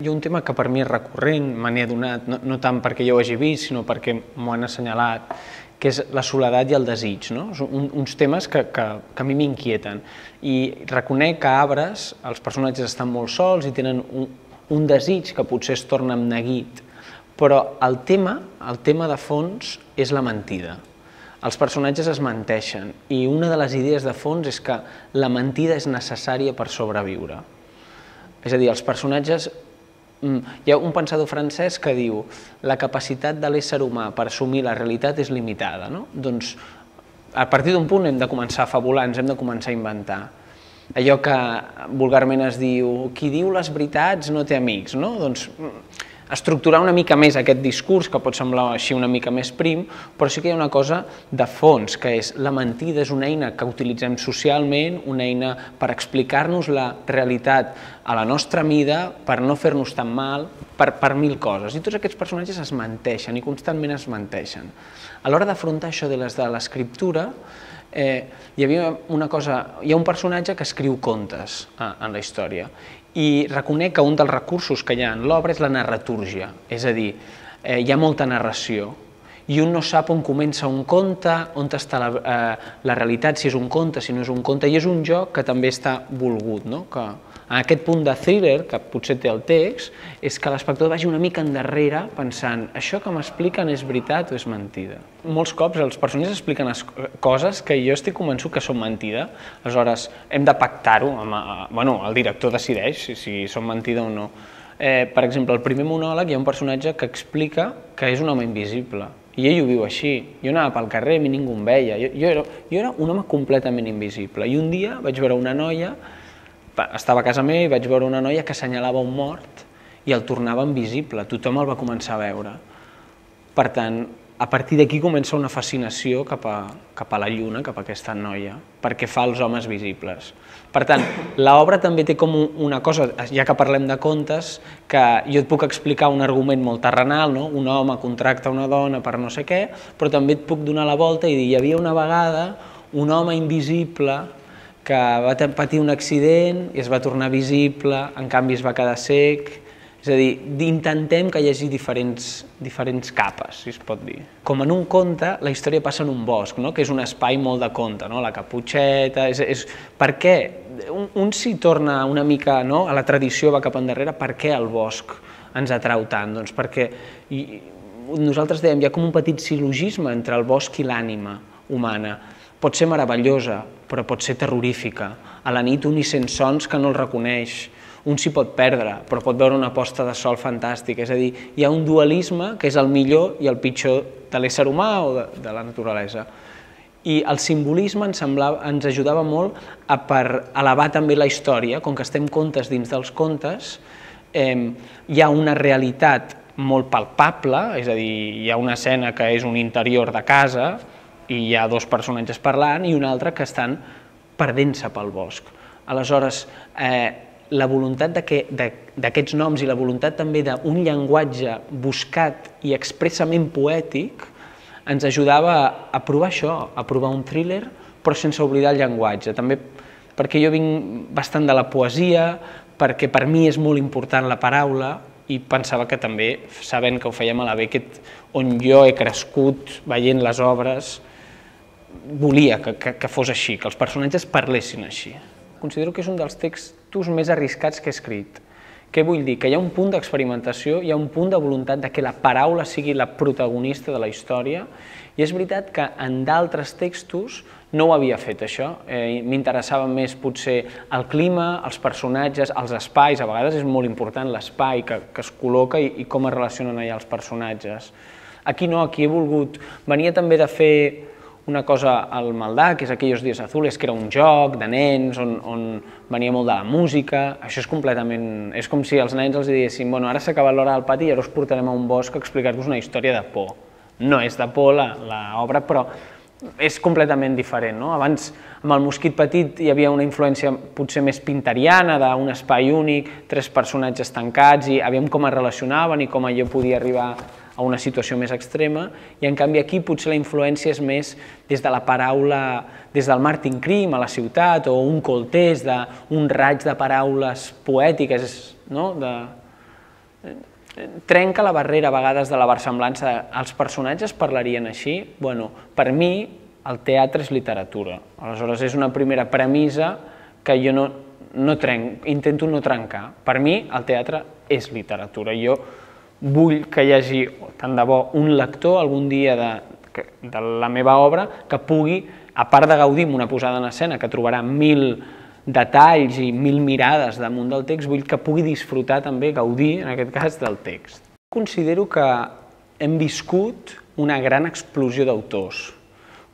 hi ha un tema que per mi és recurrent, me n'he adonat, no tant perquè jo ho hagi vist, sinó perquè m'ho han assenyalat, que és la soledat i el desig, no? Són uns temes que a mi m'inquieten. I reconec que a Arbres els personatges estan molt sols i tenen un desig que potser es torna amb neguit, però el tema de fons és la mentida. Els personatges es menteixen i una de les idees de fons és que la mentida és necessària per sobreviure. És a dir, els personatges... Hi ha un pensador francès que diu la capacitat de l'ésser humà per assumir la realitat és limitada. Doncs a partir d'un punt hem de començar a fabular, ens hem de començar a inventar. Allò que vulgarment es diu qui diu les veritats no té amics, no? Doncs estructurar una mica més aquest discurs, que pot semblar així una mica més prim, però sí que hi ha una cosa de fons, que és la mentida és una eina que utilitzem socialment, una eina per explicar-nos la realitat a la nostra mida, per no fer-nos tan mal, per mil coses. I tots aquests personatges es menteixen i constantment es menteixen. A l'hora d'afrontar això de l'escriptura, hi ha un personatge que escriu contes en la història i reconec que un dels recursos que hi ha en l'obra és la narratúrgia, és a dir, hi ha molta narració i un no sap on comença un conte, on està la realitat, si és un conte, si no és un conte, i és un joc que també està volgut, que en aquest punt de thriller, que potser té el text, és que l'espectador vagi una mica endarrere pensant això que m'expliquen és veritat o és mentida. Molts cops els personatges expliquen coses que jo estic convençut que són mentida, aleshores hem de pactar-ho, el director decideix si són mentida o no. Per exemple, al primer monòleg hi ha un personatge que explica que és un home invisible, i ell ho viu així. Jo anava pel carrer i ningú em veia, jo era un home completament invisible, i un dia vaig veure una noia, estava a casa meva i vaig veure una noia que assenyalava un mort i el tornava invisible, tothom el va començar a veure. Per tant, a partir d'aquí comença una fascinació cap a la lluna, cap a aquesta noia, perquè fa els homes visibles. Per tant, l'obra també té com una cosa, ja que parlem de contes, que jo et puc explicar un argument molt terrenal, un home contracta una dona per no sé què, però també et puc donar la volta i dir hi havia una vegada un home invisible que va patir un accident i es va tornar visible, en canvi es va quedar cec. És a dir, intentem que hi hagi diferents capes, si es pot dir. Com en un conte, la història passa en un bosc, que és un espai molt de conte, la Caputxeta... Per què? Un s'hi torna una mica a la tradició, va cap endarrere, per què el bosc ens atrau tant? Doncs perquè nosaltres dèiem, hi ha com un petit sil·logisme entre el bosc i l'ànima humana. Pot ser meravellosa, però pot ser terrorífica. A la nit un hi sent sons que no els reconeix, un s'hi pot perdre, però pot veure una posta de sol fantàstica. És a dir, hi ha un dualisme que és el millor i el pitjor de l'ésser humà o de la naturalesa. I el simbolisme ens ajudava molt per elevar també la història, com que estem contes dins dels contes, hi ha una realitat molt palpable, és a dir, hi ha una escena que és un interior de casa, i hi ha dos personatges parlant i un altre que estan perdent-se pel bosc. Aleshores, la voluntat d'aquests noms i la voluntat també d'un llenguatge buscat i expressament poètic ens ajudava a provar això, a provar un thriller, però sense oblidar el llenguatge. També perquè jo vinc bastant de la poesia, perquè per mi és molt important la paraula, i pensava que també, sabent que ho fèiem a la Beckett, on jo he crescut veient les obres, volia que fos així, que els personatges parlessin així. Considero que és un dels textos més arriscats que he escrit. Què vull dir? Que hi ha un punt d'experimentació, hi ha un punt de voluntat que la paraula sigui la protagonista de la història, i és veritat que en d'altres textos no ho havia fet, això. M'interessava més potser el clima, els personatges, els espais, a vegades és molt important l'espai que es col·loca i com es relacionen allà els personatges. Aquí no, aquí he volgut... Venia també de fer una cosa al Maldà, que és Aquellos días azules, que era un joc de nens on venia molt de la música. Això és completament... És com si als nens els diguéssim, bueno, ara s'ha acabat l'hora del pati i ara us portarem a un bosc a explicar-vos una història de por. No és de por l'obra, però és completament diferent. Abans, amb el Mosquit Petit, hi havia una influència potser més pinteriana, d'un espai únic, tres personatges tancats, i aviam com es relacionaven i com allò podia arribar a una situació més extrema, i en canvi aquí potser la influència és més des de la paraula, des del Martin Krim a la ciutat, o un Coltés, d'un raig de paraules poètiques, trenca la barrera a vegades de la versemblança. Els personatges parlarien així? Bueno, per mi el teatre és literatura. Aleshores és una primera premissa que jo intento no trencar. Per mi el teatre és literatura. Jo vull que hi hagi, tant de bo, un lector algun dia de la meva obra que pugui, a part de gaudir amb una posada en escena que trobarà 1000 detalls i 1000 mirades damunt del text, vull que pugui disfrutar també, gaudir, en aquest cas, del text. Considero que hem viscut una gran explosió d'autors.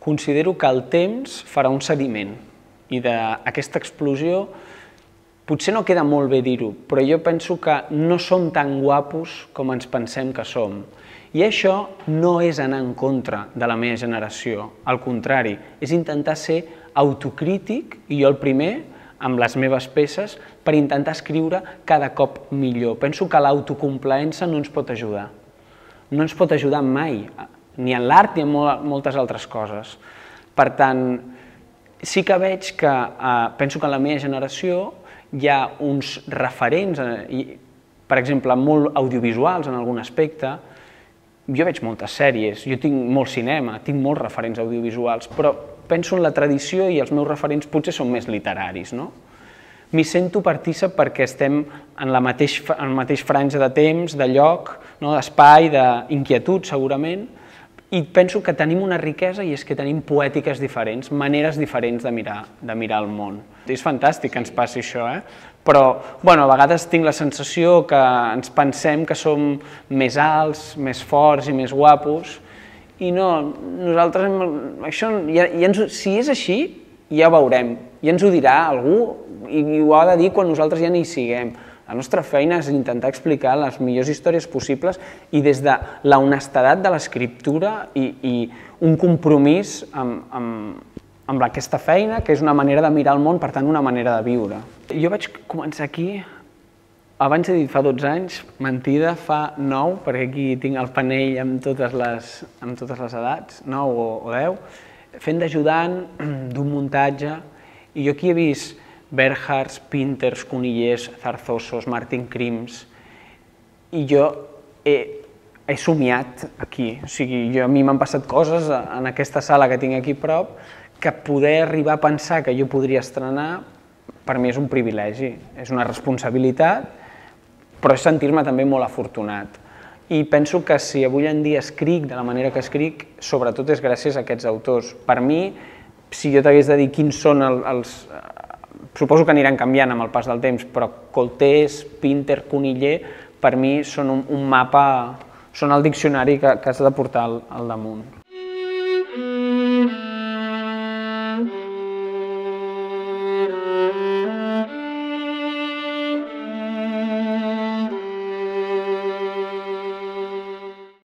Considero que el temps farà un sediment i d'aquesta explosió potser no queda molt bé dir-ho, però jo penso que no som tan guapos com ens pensem que som. I això no és anar en contra de la meva generació, al contrari, és intentar ser autocrític, i jo el primer, amb les meves peces, per intentar escriure cada cop millor. Penso que l'autocomplaença no ens pot ajudar. No ens pot ajudar mai, ni en l'art ni en moltes altres coses. Per tant, sí que veig que, penso que en la meva generació hi ha uns referents, per exemple, molt audiovisuals en algun aspecte. Jo veig moltes sèries, jo tinc molt cinema, tinc molts referents audiovisuals, però penso en la tradició i els meus referents potser són més literaris, no? M'hi sento partícip perquè estem en la mateix franja de temps, de lloc, d'espai, d'inquietud, segurament, i penso que tenim una riquesa i és que tenim poètiques diferents, maneres diferents de mirar el món. És fantàstic que ens passi això, però a vegades tinc la sensació que ens pensem que som més alts, més forts i més guapos, i no, nosaltres, si és així, ja ho veurem, ja ens ho dirà algú i ho ha de dir quan nosaltres ja no hi siguem. La nostra feina és intentar explicar les millors històries possibles i des de la honestedat de l'escriptura i un compromís amb aquesta feina, que és una manera de mirar el món, per tant, una manera de viure. Jo vaig començar aquí, abans he dit fa 12 anys, mentida, fa 9, perquè aquí tinc el panell amb totes les edats, 9 o 10, fent d'ajudant d'un muntatge, i jo aquí he vist Berhards, Pinters, Conillers, Zarzosos, Martin Krims, i jo he somiat aquí. O sigui, a mi m'han passat coses en aquesta sala que tinc aquí a prop que poder arribar a pensar que jo podria estrenar, per mi és un privilegi, és una responsabilitat, però és sentir-me també molt afortunat. I penso que si avui en dia escric de la manera que escric, sobretot és gràcies a aquests autors. Per mi, si jo t'hagués de dir quins són els... Suposo que aniran canviant amb el pas del temps, però Coltés, Pinter, Coniller, per mi són un mapa, són el diccionari que has de portar al damunt.